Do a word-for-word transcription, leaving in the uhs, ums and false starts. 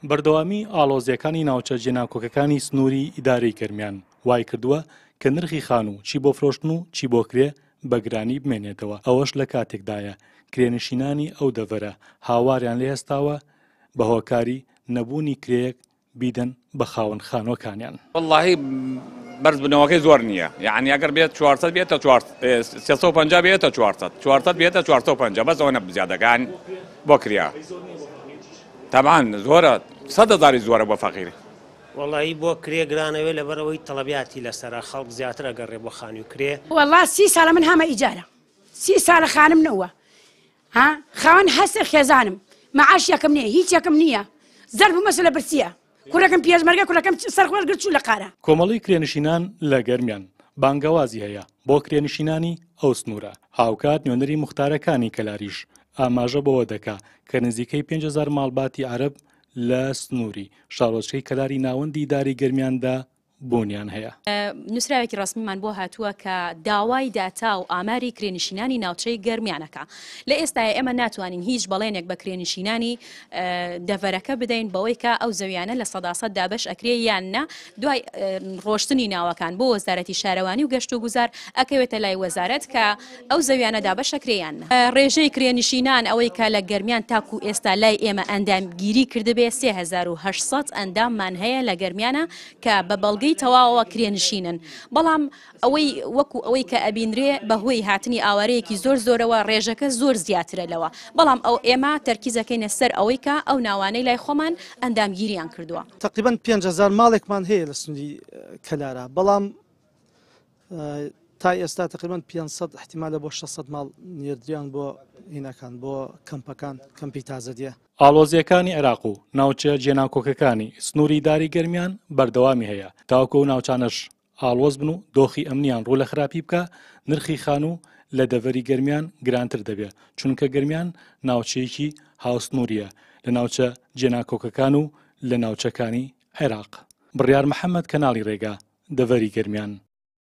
بەردەوامی ئاڵۆزییەکانی ناوچە جێناکۆکەکانی سنووری ئیدارەی گەرمیان وای کردووە کە نرخی خانوو چی بۆ فرۆشتن و چی بۆ کرێ بە گرانی بمێنێتەوە، ئەوەش لە کاتێکدایە کرێنشینانی ئەو دەڤەرە هاواریان لێ هەستاوە بە هۆکاری نەبوونی کرێیەک بیدەن بە خاوەن خانووەکانیان. وەڵڵاهی بەرزبوونەوەکەی زۆر نییە، یعنی ئەگەر بێت چوار سەد بێتە چوار سێ سەد و پەنجا بێتە چوار سەد، چوار سەد بێتە چوار سەد و پەنجا، بەس ئەوە زیادەکان بۆ کریا. تەبعاً زۆرە، سەد هەزاری زۆرە بۆ فەقیر. وەڵی بۆ کرێ گرانەوێ لەبەرەوەی تەڵەبیاتی لەسەرە، خەڵک زیاتر ئەگەڕێ بۆ خانووی کرێ. وەڵا سی ساڵە من هامە ئیجارە، سی ساڵە خانم نەوە، ها خاوەن هەسێ خێزانم، معاش یەکەم نییە، هیچ یەکەم نییە، زەرب و مەسەلە برسیە. کوڕەکەم پێشمەرگە، کوڕەکەم سەرخۆش گرت چوو لە قارە. کۆمەڵی کرێنشینان لە گەرمیان بانگەوازی هەیە بۆ کرێنشینانی ئەو سنوورە. هاوکات نوێنەری مختارەکانی کەلاریش ئاماژە بەوە دەکا کە نزیکەی پێنج هەزار ماڵباتی عەرەب لە سنووری شارۆچکەی کەلاری ناوەندی داری گەرمیاندا بوونیان هەیە. نووسراوێکی ڕەسمیمان بۆ هاتووە کە داوای داتا و ئاماری کرێنشینانی ناوچەی گەرمیانەکە. لە ئێستاە ئێمە ناتوانین هیچ بەڵێنێک بە کرێنشینانی دەڤەرەکە بدەین بەوەی کە ئەو زەویانە لە سەداسەد دابەش ئەکرێ یان نا. دوای ڕۆشتنی ناوەکان بۆ وەزارەتی شارەوانی و گەشت و گوزار ئەکەوێتە لای وەزارەت کە ئەو زەویانە دابەش ئەکرێ یان نا. ڕێژەی کرێنشینان ئەوەی کە لە گەرمیان تاکو ئێستا لای ئێمە ئەندامگیری کردبێ سێ هەزار و هەشت سەد ئەنداممان هەیە لە گەرمیانە کە بە بەڵگەی تەواوە کرێنشینن. بەڵام ئەوەی وەکو ئەوەی کە ئەبینرێ بەهۆی هاتنی ئاوارەیەکی زۆر زۆرەوە ڕێژەکە زۆر زیاترە لەوە. بەڵام ئەو ئێمە تەرکیزەکەینە سەر ئەوەی کە ئەو ناوانەی لای خۆمان ئەندامگیریان کردووە. تقریباً پێنج هەزار ماڵێکمان هەیە لە سنووری کەلارا، بەڵام تا ئێستا تقریباً پێنج سەد احتیمالە بۆ شەش سەد ماڵ نێردریان بۆ هینەکان، بۆ کەمپەکان، کەمپی تازەدیە. ئاڵۆزیەکانی عێراق و ناوچە جێناکۆکەکانی سنووری داری گەرمیان بەردەوامی هەیە تاوەکو ئەو ناوچانەش ئاڵۆز بن و دۆخی ئەمنیان ڕوو لە خراپی بکە، نرخی خانوو لە دەڤەری گەرمیان گرانتر دەبێت، چونکە گەرمیان ناوچەیەکی هاوسنووریە لە ناوچە جێناکۆکەکان و لە ناوچەکانی عێراق. بڕیار محەممەد، کەناڵی ڕێگا، دەڤەری گەرمیان.